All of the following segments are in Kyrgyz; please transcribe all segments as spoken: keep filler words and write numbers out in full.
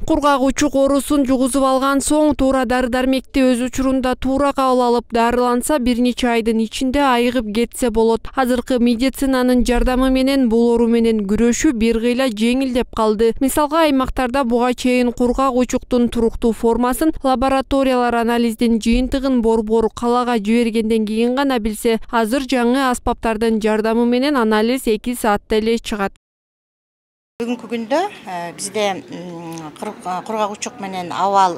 Кургак учук оорусун жугузуп алган соң туура дары-дармекти өз учурунда туура кабыл алып дарыланса бир нече айдын ичинде айыгып кетсе болот. Азыркы медицинанын жардамы менен бул оору менен күрөшүү бир кыйла жеңилдеп калды. Мисалга аймактарда буга чейин кургак учуктун туруктуу формасын лабораториялар анализдин жыйынтыгын борбор калаага жибергенден кийин гана билсе, азыр жаңы аспаптардын жардамы менен анализ эки саатта эле чыгат. Бүгүнкү күндө бизде кургак учук менен абал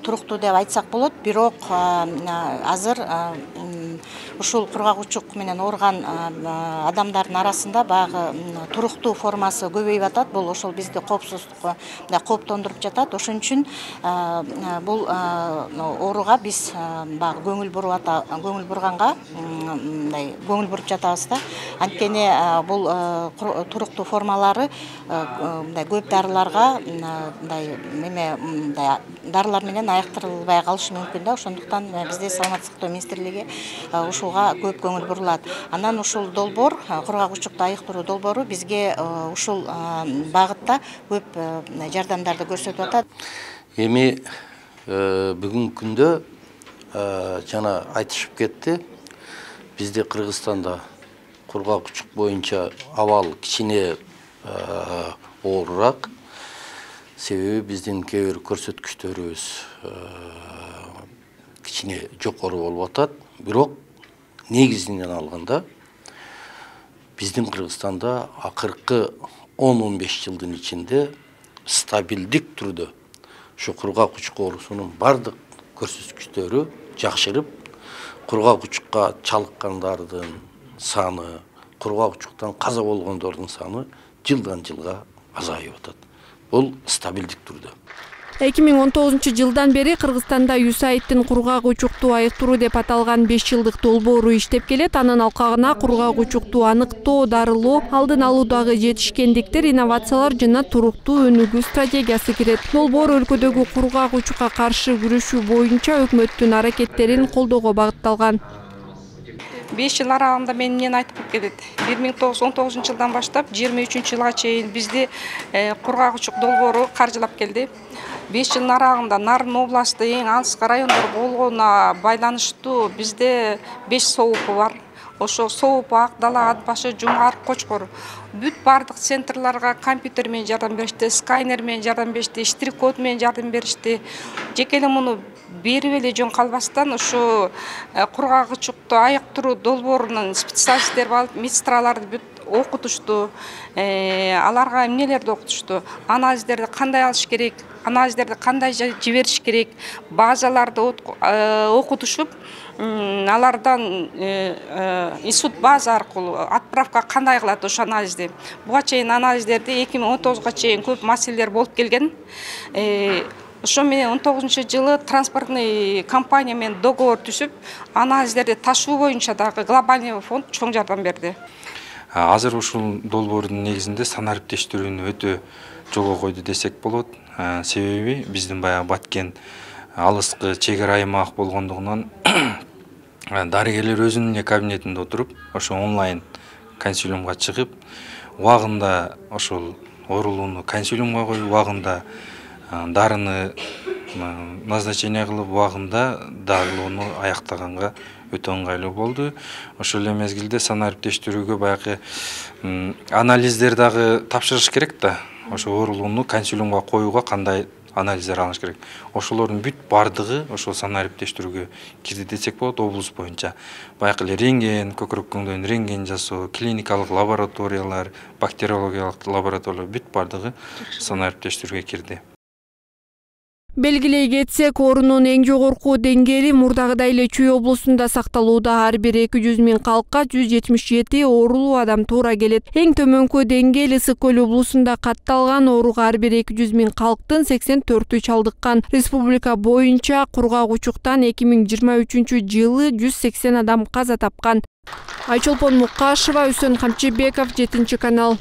туруктуу деп айтсак болот, бирок азыр ушул кургак учук менен ооруган адамдардын арасында баягы туруктуу формасы көбөйүп атат. Бул ошол бизди коопсуздукка кооптондуруп жатат. Ошон үчүн бул ооруга биз баягы көңүл буруп ата көңүл бурганга мындай көңүл буруп жатабыз да. Анткени бул туруктуу формалары мындай көп дарыларга мындай эме мындай дарылар менен аяктырылбай калышы мүмкүн да. Ошондуктан бизде саламаттык сактоо министрлиги ушуга көп көңүл бурулат. Анан ушул долбоор, кургак учукту айыктыруу долбоору бизге ушул багытта көп жардамдарды көрсөтүп атат. Эми бүгүнкү күндө жана айтышып кетти. Бизде Кыргызстанда кургак учук боюнча абал кичине оорураак. Себеби биздин кээ бир көрсөткүчтөрүбүз кичине жокору болуп атат. Бирок негизинен алганда биздин Кыргызстанда акыркы он он беш жылдын ичинде стабилдик түрдө ушу кургак учук оорусунун бардык көрсөткүчтөрү жакшырып, кургак учукка чалыккандардын саны, кургак учуктан каза болгондордун саны жылдан жылга азайып атат. Бул стабилдик түрдө. эки миң он тогузунчу жылдан бери Кыргызстанда ю эс эй ай дин кургак учукту айыктыруу деп аталган беш жылдык долбоору иштеп келет. Анын алкагына кургак учукту аныктоо, дарылоо, алдын алуудагы жетишкендиктер, инновациялар жана туруктуу өнүгүү стратегиясы кирет. Долбоор өлкөдөгү кургак учукка каршы күрөшүү боюнча өкмөттүн аракеттерин колдоого багытталган. беш жыл аралыгында мен эмнени айтып келет. бир миң тогуз жүз он тогузунчу жылдан баштап жыйырма үчүнчү жылга чейин бизди кургак учук долбоору каржылап келди. беш жылдын аралыгында Нарын областы эң алыскы райондор болгонуна байланыштуу бизде беш соопу бар. Ошо соопу Ак Дала, Ат башы, Жумгар, Кочкор бүт бардык центрларга компьютер менен жардам беришти, сканер менен жардам беришти, штрих-код менен жардам беришти. Жеке эле муну берип эле жөн калбастан ушу кургак учукту айыктыруу долбоорунун специалисттери алып, медсестраларды бүт окутушту, аларга эмнелерди окутушту, анализдерди кандай алыш керек, анализдерди кандай жибериш керек, базаларды окутушуп, алардан институт база аркылуу отправка кандай кылат ошо анализди. Буга чейин анализдерди эки миң он тогузга чейин көп маселелер болуп келген. Ошо менен он тогузунчу жылы транспортный компания менен договор түзүп, анализдерди ташуу боюнча дагы глобальный фонд чоң жардам берди. Азыр ушул долбоордун негизинде санариптештирүүнү өтө жолго койду десек болот. Себеби биздин баягы Баткен алыскы чек ара аймак болгондугунан дарыгерлер өзүнүн эле кабинетинде отуруп, ошо онлайн консилиумга чыгып, убагында ошол оорулууну консилиумга коюп, убагында дарыны назначение кылып, убагында дарылоону аяктаганга өтө ыңгайлуу болду. Ошол эле мезгилде санариптештирүүгө баягы анализдер дагы тапшырыш керек да. Ошо оорулууну консилиумга коюуга кандай анализдер алыш керек. Ошолордун бүт бардыгы ошол санариптештирүүгө кирди десек болот. Облус боюнча баягы эле рентген, көкүрөк көңдөйүн рентген жасоо, клиникалык лабораториялар, бактериологиялык лабораториялар бүт бардыгы санариптештирүүгө кирди. Белгилей кетсек, оорунун эң жогорку деңгээли мурдагыдай эле Чүй облусунда сакталууда. Ар бир эки жүз миң калкка жүз жетимиш жети оорулуу адам туура келет. Эң төмөнкү деңгээл Ысык көл облусунда катталган. Ооруга ар бир эки жүз миң калктын сексен төртү чалдыккан. Республика боюнча кургак учуктан эки миң жыйырма үчүнчү жылы жүз сексен адам каза тапкан. Айчолпон Мукашева, Үсөн Камчыбеков, жетинчи канал.